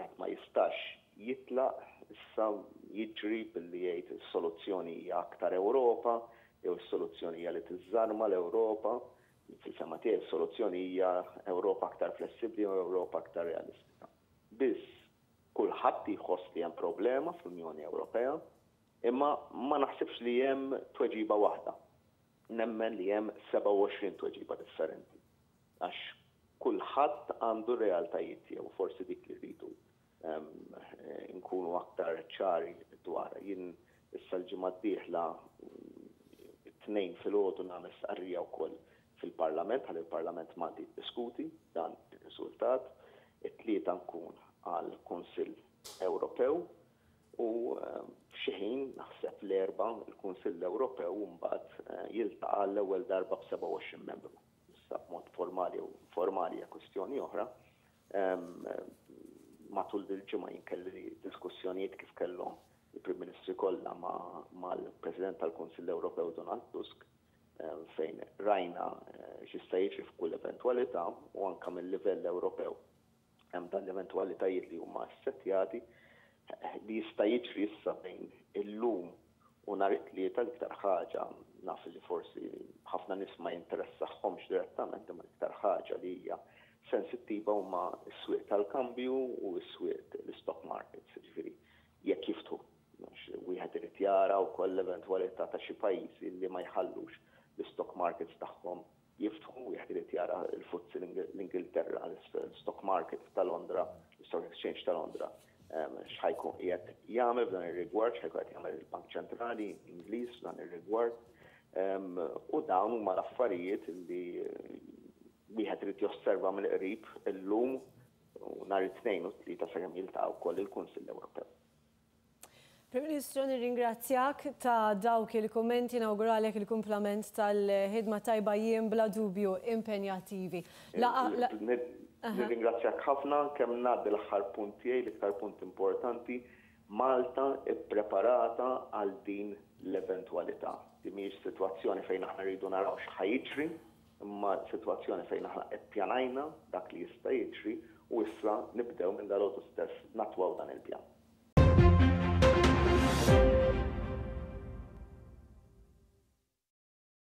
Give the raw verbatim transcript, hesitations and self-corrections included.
Wieħed ma jistax jitlaq issa jiġri billi jgħid is-soluzzjoni hija aktar Ewropa jew is-soluzzjoni hija li tiżżarma l-Ewropa. Fil-fehma tiegħi s-soluzzjoni hija Ewropa aktar flessibbli u Ewropa aktar realistika. Biss kulħadd jħoss li hemm problema fl-Unjoni Ewropea, imma ma naħsibx li hemm tweġiba waħda. Nemmen li hemm sebgħa u għoxrin tweġiba differenti. Għax kulħadd għandu realtajiet tiegħu, forsi dik li rridu nkunu aktar ċari dwar. Jien issa l-ġimgħa d-dieħla it-tnejn filgħodu nagħmel stqarrija wkoll fil-Parlament, ħalli il-Parlament Malti jiddiskuti dan ir-riżultat. It-tlieta nkun għal Kunsill Ewropew u f'xi ħin naħseb l-Erbgħa il-Kunsill Ewropew mbagħad jiltaqa' l-ewwel darba b'sebgħa u għoxrin membru. Issa b'mod formali u informali hija kwistjoni oħra. Matul dil-ġimgħa jien kelli diskussjonijiet kif kellhom il-Prim Ministri kollha mal-President tal-Kunsill Ewropew Donald Tusk, fejn rajna x'jista' jiġri f'kull eventwalità u anke mill-livell Ewropew hemm dan l-eventwalitajiet li huma assettjati li jista' jiġri issa bejn illum u nhar it-tlieta. L-iktar ħaġa naf li forsi ħafna nies ma jinteressahomx direttament, imma l-iktar ħaġa li hija sensittiva huma s-swieq tal-kambju u s-swieq l-stock markets, ġifieri jekk jiftħu. Wieħed irid jara wkoll l-eventwalità ta' xi pajjiżi li ma jħallux l-stock markets tagħhom jiftħu, wieħed irid jara l-F T S E l-Ingilterra, l-stock market ta' Londra, l-Stock Exchange ta' Londra, x'ħajkun qiegħed jagħmel f'dan ir-rigward, x'ħajkun qed jagħmel il-Bank Ċentrali Ingliż f'dan ir-rigward. U dawn huma l-affarijiet li wieħed irid josserva mill-qrib illum u nhar it-tnejn u t-tlieta sakemm jiltaqgħu wkoll il-Kunsill Ewropew. Prim Ministru, nirringrazzjak ta' dawk il-kummenti, nawguralek il-kumplament tal-ħidma tajba, jiem bla dubju impenjattivi. Nirringrazzjak ħafna. Kemm ngħaddi l-aħħar punt tiegħi, l-iktar punt importanti: Malta ippreparata għal din l-eventwalità. Di mhijiex sitwazzjoni fejn aħna rridu naraw x'ħa jiġri, imma sitwazzjoni fejn aħna ippjanajna dak li jista' jiġri u issa nibdew minn dalgħodu stess nattwaw dan il-pjan.